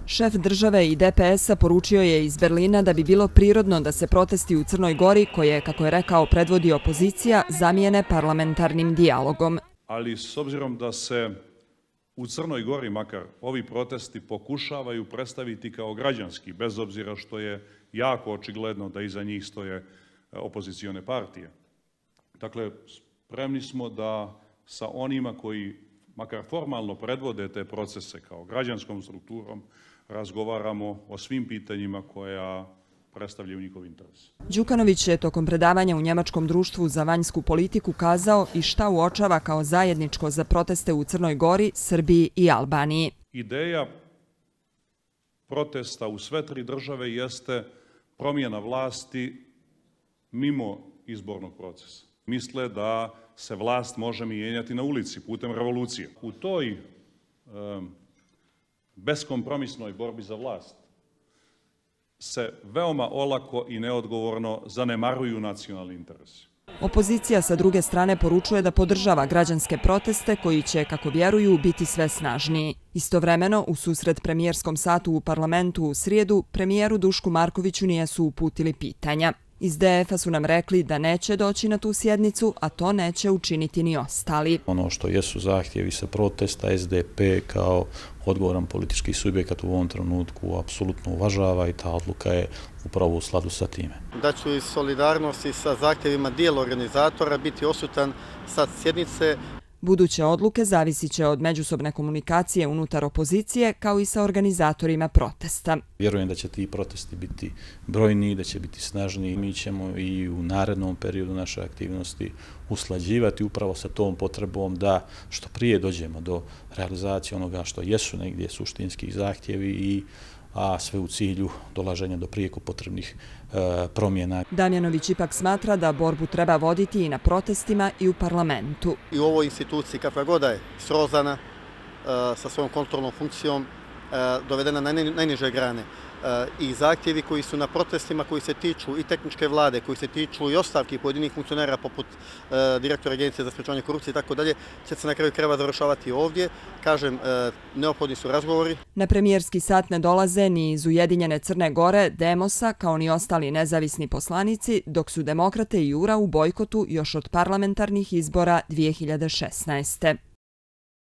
Šef države i DPS-a poručio je iz Berlina da bi bilo prirodno da se protesti u Crnoj Gori, koje, kako je rekao, predvodi opozicija, zamijene parlamentarnim dijalogom. Ali s obzirom da se u Crnoj Gori makar ovi protesti pokušavaju predstaviti kao građanski, bez obzira što je jako očigledno da iza njih stoje opozicione partije. Dakle, spremni smo da sa onima koji makar formalno predvode te procese kao građanskom strukturom razgovaramo o svim pitanjima koja predstavljaju njihov interes. Đukanović je tokom predavanja u Njemačkom društvu za vanjsku politiku kazao i šta uočava kao zajedničko za proteste u Crnoj Gori, Srbiji i Albaniji. Ideja protesta u sve tri države jeste promjena vlasti mimo izbornog procesa. Misle da se vlast može mijenjati na ulici putem revolucije. U toj beskompromisnoj borbi za vlast se veoma olako i neodgovorno zanemaruju nacionalni interesi. Opozicija sa druge strane poručuje da podržava građanske proteste koji će, kako vjeruju, biti sve snažniji. Istovremeno, u susret premijerskom satu u parlamentu u srijedu, premijeru Dušku Markoviću nisu uputili pitanja. Iz DF-a su nam rekli da neće doći na tu sjednicu, a to neće učiniti ni ostali. Ono što jesu zahtjevi sa protesta, SDP kao odgovoran politički subjekat u ovom trenutku apsolutno uvažava i ta odluka je upravo u skladu sa time. Da ću iz solidarnosti sa zahtjevima dijela organizatora biti odsutan sa sjednice. Buduće odluke zavisit će od međusobne komunikacije unutar opozicije kao i sa organizatorima protesta. Vjerujem da će ti protesti biti brojniji, da će biti snažniji. Mi ćemo i u narednom periodu naše aktivnosti usklađivati upravo sa tom potrebom da što prije dođemo do realizacije onoga što jesu negdje suštinski zahtjevi a sve u cilju dolaženja do prijeko potrebnih promjena. Damjanović ipak smatra da borbu treba voditi i na protestima i u parlamentu. I u ovoj instituciji, kakva god je srozana sa svojom kontrolnom funkcijom, dovedena na najniže grane. I zahtjevi koji su na protestima, koji se tiču i tehničke vlade, koji se tiču i ostavki pojedinih funkcionera poput direktora Agencije za sprečavanje korupcije i tako dalje, će se na kraju krajeva završavati ovdje. Kažem, neophodni su razgovori. Na premijerski sat ne dolaze ni iz Ujedinjene Crne Gore, Demosa, kao ni ostali nezavisni poslanici, dok su Demokrate i Jura u bojkotu još od parlamentarnih izbora 2016.